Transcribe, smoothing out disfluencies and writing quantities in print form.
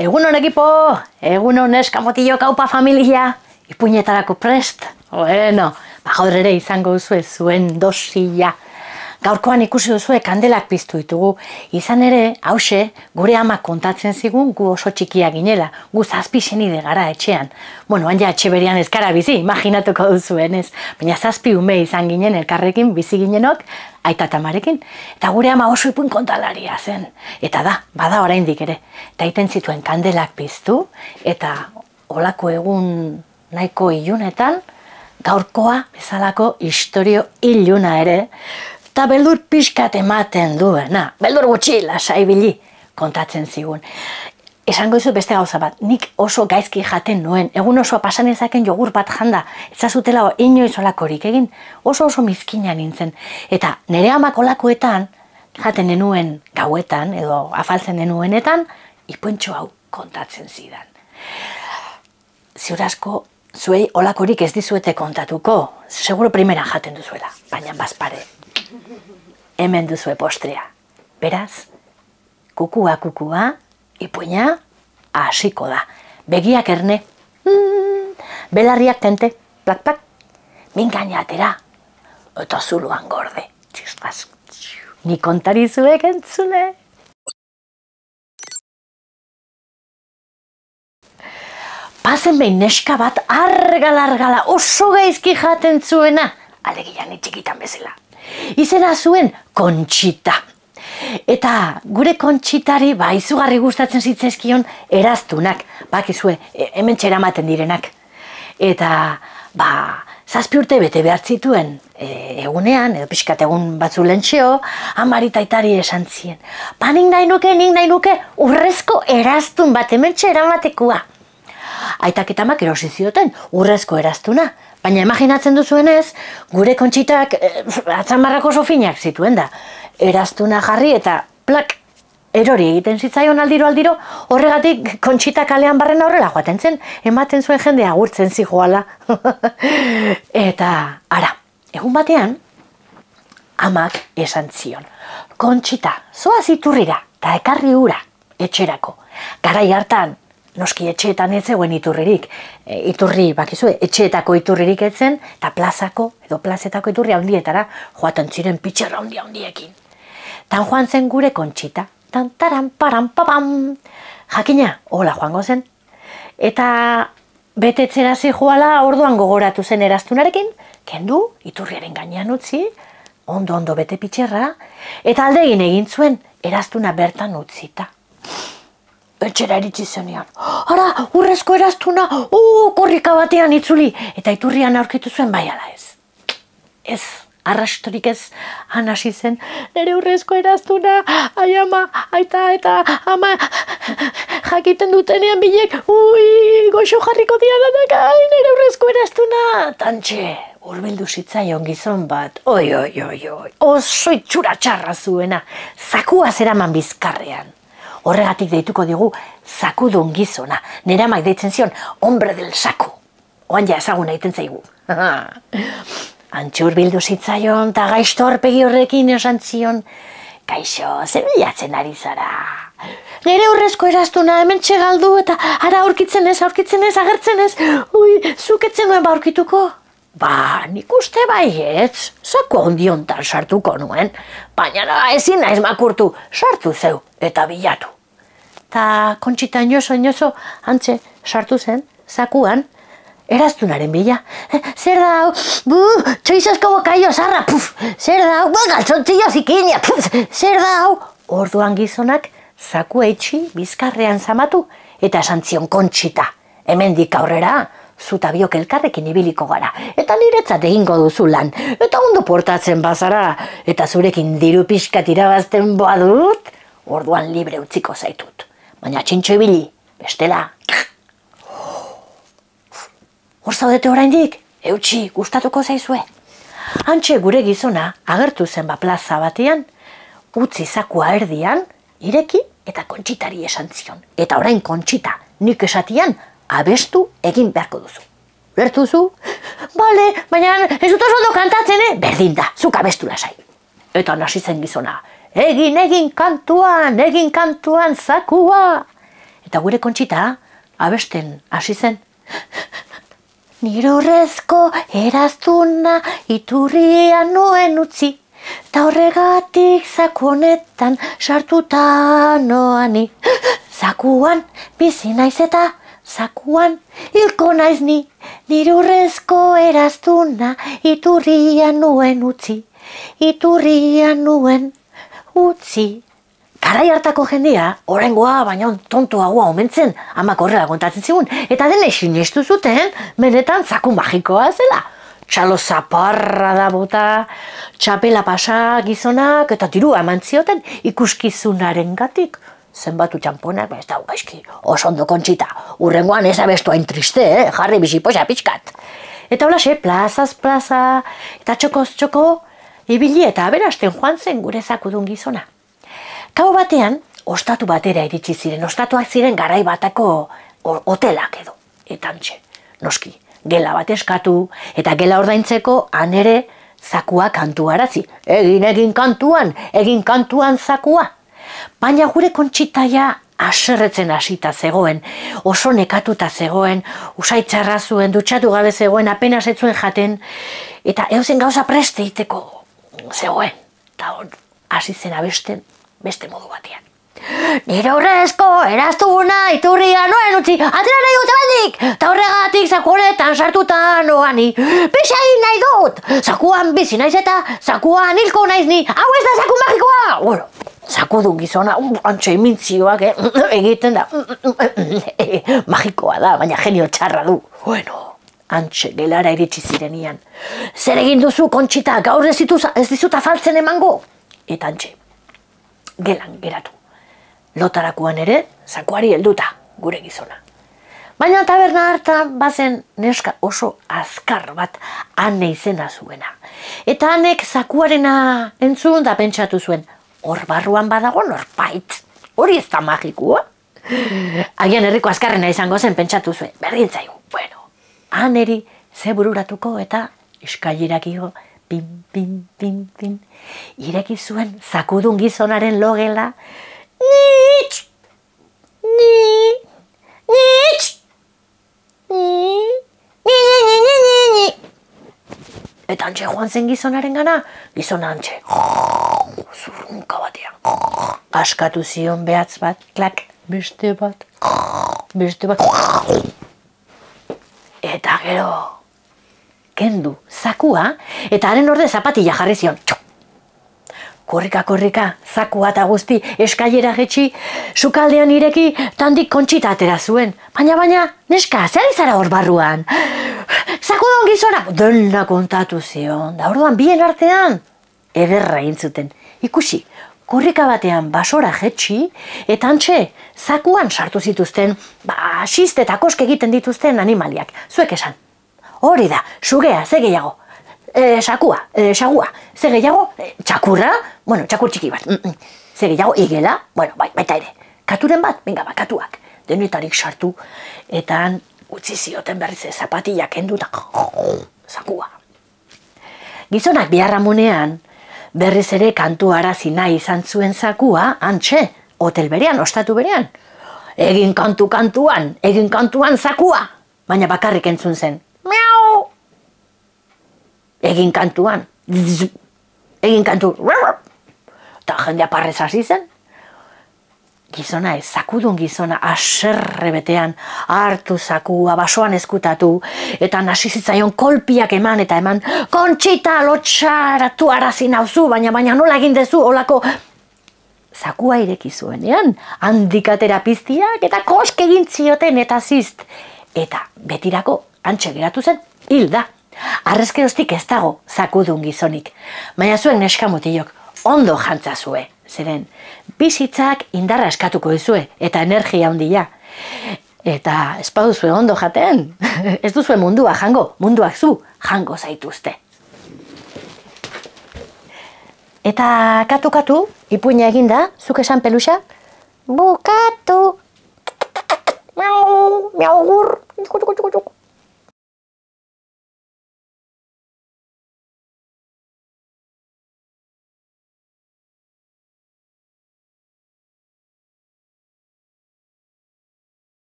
Egunon ekipo, egunon eskamotillo kaupa familia, ipuinetarako prest. Bueno, gaur ere izango duzue zuen dosia. Gaurkoan ikusi duzue kandelak piztu ditugu. Izan ere, hause, gure ama kontatzen zigun gu oso txikia ginela, gu 7 senide gara etxean. Bueno, ja etxe berian ez gara bizi, imaginatuko duzuenez. Baina 7 ume izan ginen elkarrekin, bizi ginenok, aita eta amarekin. Eta gure ama oso ipuin kontalaria zen. Eta bada oraindik ere. Eta iten zituen kandelak piztu, eta olako egun nahiko ilunetan, gaurkoa bezalako istorio iluna ere, eta beldur pixkat ematen duena, beldur gutxi lasai bili kontatzen zigun. Esango dizu beste gauza bat, nik oso gaizki jaten nuen, egun osoa pasan ezaken jogur bat janda, ezazutela inoiz olakorik egin, oso mizkina nintzen. Eta nire amak olakoetan, jaten nenuen gauetan, edo afaltzen nenuenetan, ipuentxo hau kontatzen zidan. Ziur asko, zuei olakorik ez dizuete kontatuko, seguro primera jaten duzuela, baina bazpare. Hemen duzue postrea. Beraz, kukua, ipuina hasiko da. Begiak erne, belarriak tente, plak, mingaina atera, eta zuluan gorde. Ni kontari zuek entzule. Pazen behin neska bat argala oso gaizki jaten zuena, alegia ni txikitan bezala. Izena zuen Kontxita. Eta gure Kontxitari izugarri gustatzen zitzaizkion eraztunak, bakizue, hemen txeramaten direnak. Eta, 7 urte bete behar zituen egunean, edo pixkat egun batzu lentxeo, amari taitari esan zien. Nik nahi nuke urrezko eraztun bat hemen txeramatekua. Aitak eta amak erosi zioten urrezko eraztuna. Baina imaginatzen duzuenez, gure Kontxitak atzamarrako oso finak zituen da. Eraztuna jarri eta plak, erori egiten zitzaion aldiro, horregatik Kontxita kalean barren aurrela joaten zen, ematen zuen jende agurtzen zijoala. Eta, egun batean, amak esan zion. Kontxita, zoaz iturrira, eta ekarri ura, etxerako. Garai hartan, noski etxeetan ez zegoen iturririk. Iturri, bakizue, etxeetako iturririk etzen, eta plazako, edo plazetako iturri handietara, joaten ziren pitxerra handiekin. Tan joan zen gure Kontxita. Tan taran, paran, papam. Jakina, hola joango zen. Eta betetzera zijoala orduan gogoratu zen eraztunarekin, kendu, iturriaren gainean utzi, ondo bete pitxerra, eta aldegin egin zuen eraztuna bertan utzita. Etxera eritzi zenean. Urrezko eraztuna, korrika batean itzuli. Eta iturrian aurkitu zuen bai ala ez. Ez, arrastorik ez hasi zen. Nere urrezko eraztuna, ai ama, aita eta ama, jakiten dutenean bilek, goxo jarriko diadanak, nere urrezko eraztuna. Tantxe, hurbildu zitzaion gizon bat, oso itxura txarra zuena, zakua zeraman bizkarrean. Horregatik deituko digu zakudun gizona. Nera amak deitzen zion, hombre del saku. Oan ja ezaguna egiten zaigu. Antxe hurbildu zitzaion, eta gaizto aurpegi horrekin esan zion, kaixo, zer bilatzen ari zara? Nere urrezko eraztuna hemen txegaldu, eta ara aurkitzen ez, agertzen ez, zuketzen nuen aurkituko? Nik uste baietz, zaku ondiontan sartuko nuen, baina ezin naiz makurtu, sartu zeu eta bilatu. Ta Kontxita inozo, antxe, sartu zen, zakuan, eraztunaren bila. Zer da hau, txoizasko bokaio zarra, zer da hau, galtzontzio zikina, zer da hau. Orduan gizonak, zaku eitxi bizkarrean zamatu, eta esan zion Kontxita, hemendik aurrera, zuta biok elkarrekin ibiliko gara, eta niretzat egingo duzu lan, eta ondo portatzen bazara, eta zurekin diru pixkat irabazten boa dut, orduan libre utziko zaitut. Baina txintxo ibili, bestela. Hor zaudete oraindik, eutxi, gustatuko zaizue. Antxe gure gizona agertu zen plaza batean, utzi zakua erdian, ireki eta Kontxitari esan zion. Eta orain Kontxita, nik esatian, abestu egin beharko duzu. Lertuzu? Bale, baina ez dut oso ondo kantatzen, berdin da, zuk abestu lasai. Eta nasi zen gizona, egin kantuan zakua. Eta gure Kontxita abesten hasi zen. Nire urrezko eraztuna iturrian nuen utzi, ta horregatik zaku honetan sartuta noani. Zakuan bizi naiz eta zakuan hilko naiz ni, nire urrezko eraztuna iturrian nuen utzi, iturrian nuen utzi. Garai hartako jendia, oraingoa baina tontoagoa omentzen, amak horrela kontatzen zigun, eta dene sinestu zuten, benetan zaku magikoa zela. Txalo zaparra da bota, txapela pasa gizonak, eta dirua eman zioten ikuskizunaren gatik. Zenbatu txamponak, ez da, gaizki, oso ondo Kontxita, urrengoan ez abestu hain triste, jarri biziposa pixkat. Eta holaxe, plazaz plaza, eta txokoz txoko, ibili eta aberasten joan zen gure zakudun gizona. Gau batean, ostatu batera iritsi ziren, ostatuak ziren garai batako hotelak edo. Eta antxe, noski, gela bat eskatu, eta gela ordaintzeko han ere zakua kantuarazi. Egin kantuan zakua. Baina gure Kontxitaia haserretzen hasita zegoen, oso nekatuta zegoen, usaitxarra zuen, dutxatu gabe zegoen, apenas ez zuen jaten, eta eusen gauza preste egiteko zegoen. Eta hasi zen abesten beste modu batean. Nire horrezko eraztuna iturria noen utzi, atera nahi dute baldik, eta horregatik zaku honetan sartuta noani. Pixa egin nahi dut, zakuan bizi naiz eta zakuan hilko naiz ni, hau ez da zaku magikoa! Bueno, zakudun gizona, antxe imintzioak egiten da, magikoa da, baina genio txarra du. Bueno, antxe gelara iritsi zirenian. Zer egin duzu, Kontxita, gaur ez dizut afaltzen emango? Eta antxe, gelan geratu. Lotarakuan ere, zakuari helduta, gure gizona. Baina taberna hartan bazen neska oso azkar bat Ane izena zuena. Eta Anek zakuarena entzun da pentsatu zuen, hor barruan badago norbait, hori ez da magikua. Agian herriko azkarrena izango zen pentsatu zuen, berdin zaigu. Bueno, Aneri ze bururatuko eta eskailerak igo, pin, pin, pin, pin, ireki zuen zakudun gizonaren logela, nitx, nitx, eta antxe joan zen gizonaren gana, gizona antxe, zurrunka batean, askatu zion behatz bat, klak, beste bat, eta gero, kendu zakua, eta haren orde zapatilla jarri zion. Korrika, zakua eta guzti eskailera jetxi, sukaldean ireki, tandik Kontxita atera zuen. Baina, neska, zer izara hor barruan? Zakudun gizona, dena kontatu zion, da orduan bien artean, ederra egin zuten. Ikusi, korrika batean basora jetxi, eta antxe, zakuan sartu zituzten, xiste eta koske egiten dituzten animaliak. Zuek esan. Hori da, sugea, ze gehiago. Sagua, ze gehiago, txakurra, bueno, txakur txiki bat. Ze gehiago, igela, bueno, baita ere. Katuren bat, venga, katuak. Denetarik sartu, eta utzi zioten berriz zapatillak kenduta, zakua. Gizonak biharramunean, berriz ere kantu arazi nahi izan zuen zakua, antxe, hotel berean, ostatu berean. Egin kantuan zakua, baina bakarrik entzun zen. Miau! Egin kantu, eta jendea parrez hasi zen. Gizona ez, zakudun gizona haserre betean hartu zakua, basoan eskutatu, eta hasi zitzaion kolpiak eman, Kontxita lotxaratu arazi nauzu, baina nola egin dezu, olako zakua ireki zuenean, handik atera piztiak, eta koske egin zioten, eta zizt. Eta betirako antxe geratu zen, hilda. Arrezkeroztik ez dago zakudun gizonik. Baina zuen neskamutilok ondo jantzazue. Zeren, bizitzak indarra eskatuko duzue eta energia handia. Eta ez baduzue ondo jaten, ez duzue mundua jango, munduak zu jango zaituzte. Eta katu, ipuina eginda, zuk esan peluxa? Bukatu! Miau, miau gur!